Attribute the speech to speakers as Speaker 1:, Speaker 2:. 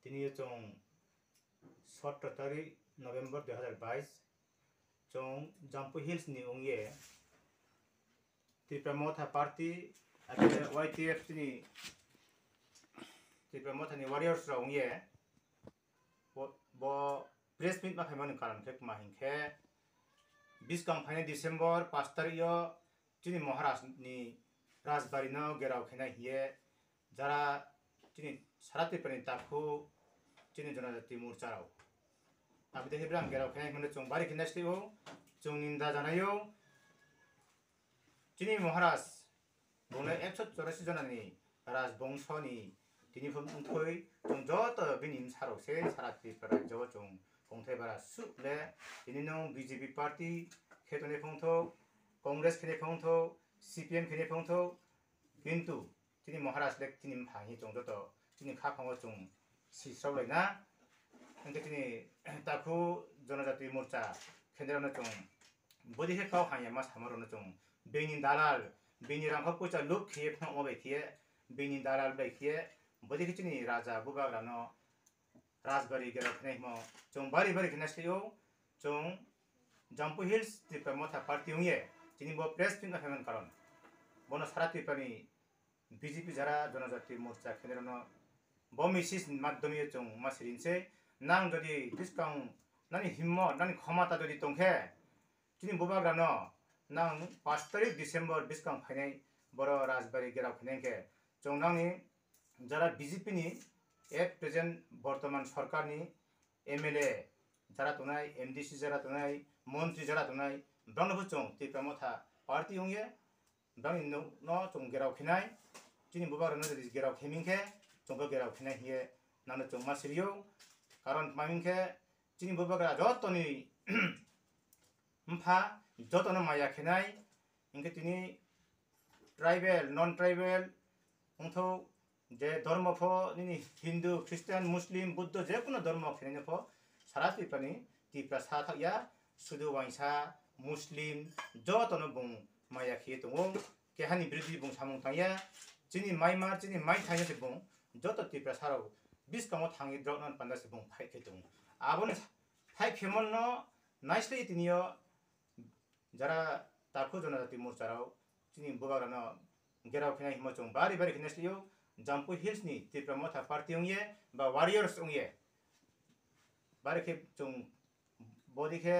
Speaker 1: তিনি চং 17 তারিখ নভেম্বর 2022 চং জাম্পু হিলস নি উংয়ে ত্রিপুরা মথা পার্টি আগে ওয়াইটিএফ তিনি ত্রিপুরা মথানি ওয়ারিয়র্স রা উংয়ে ব প্রেস মিট मा खाइमानि कारण खे मा हिंखे 20 फाइनाय डिसेम्बर 5 तारिख चिनि महाराजनि राजबारिनो गेराव खेनाय हिये যারা চিনি সারা ত্রিপুরাनि ताखु चिनि जनजाति मोर्चाराव আমি দেখি ब्राम गेराव खेनाय मोनो जों बारि खेनायस्लिबो जों निन्दा जानायो चिनि महाराज बुंनाय 184 जनानि राजबंशनि तिनिफोर उंथै जों जत बिनि सारावसे सारा त्रिपुरा रायजोआव जों गंथाय बारा सुले तिनि नं बिजेपि पार्टी खेतने फंथौ कंग्रेस खेने फंथौ सिपिएम खेने फंथौ किन्तु चिनि महाराज लेक चिनि फाहि जों जत चिनि खाफाङाव जों सिस्रावलायना ओंखाय चिनि ताखु जनजाति मोर्चा खेन्द्रावनो जों बदिखे काव हाया मा सामरनो जों बेनि दालाल बेनि रांखौ पयसा लुब खेये फंवा बायखिये बेनि दालाल बायखिये बदिखे चिनि राजा बुबाग्रानो राजबारि गेराव खेनाय हिमो जों बारि बारि खेनायस्लियो जों जाम्पु हिल्स त्रिपुरा मथा पार्टी उंये चिनि ब प्रेस फिंगा फेमन कारण बनो सारा त्रिपुरानि बिजेपि যারা जनजाति मोर्चा खेन्द्रावनो ब मेसेज माध्यमे जों मासिरिनसै नां যদি डिसकाउन्ट नानि हिम्मत नानि क्षमता যদি दंखे चिनि बुबाग्रानो नां 5 तारिख डिसेम्बर डिसकाउन्ट फाइनाय बर' राजबारि गेराव खेनायखे जों नांनि যারা বিজেপিनि एट प्रेजेन्ट বর্তমান সরকারনি एमएलए যারা तनाय एमडिसि যারা तनाय मन्त्रि যারা तनाय ब्रांनोबो जों त्रिपुरा मथा पार्टी उंये ब्रांनि न जों गेराव खेनाय चिनि बुबाग्रानो যদি गेराव खेमिंखे जोंबो गेराव खेनाय हिये नानो जों मासिरियो কারণ मामिंखे चिनि बुबाग्रा जतनि मफा जतनो माया खेनाय इंखे तिनि ट्राइबेल नन ट्राइबेल उंथौ जे धर्म फ निनि हिन्दु ख्रिस्टान मुस्लिम बुद्ध जे कोनो धर्म खेनायनो फ सारा त्रिपुरानि त्रिपुरा सा थाकिया सुदु वाइसा मुस्लिम जतनो बुं माया खेयो दङ केहानि बिरुद्धि बुं सामुं थांया चिनि माइमार चिनि माइ थांया बुं जत त्रिपुरा साराव बिसकाङाव थाङि द्रकनान पान्दासि बुं फाइखे दङ आबोनो फाइ खेमन नाइस्लि तिनियो যারা ताखु जनजाति मोर्चाराव चिनि बुबाग्रानो गेराव खेनाय हिमो जों बारि बारि खेनायस्लियो जाम्पु हिल्सनि त्रिपुरा मथा पार्टी उंये बा वारियर्स उंये बारिखे जों बदिखे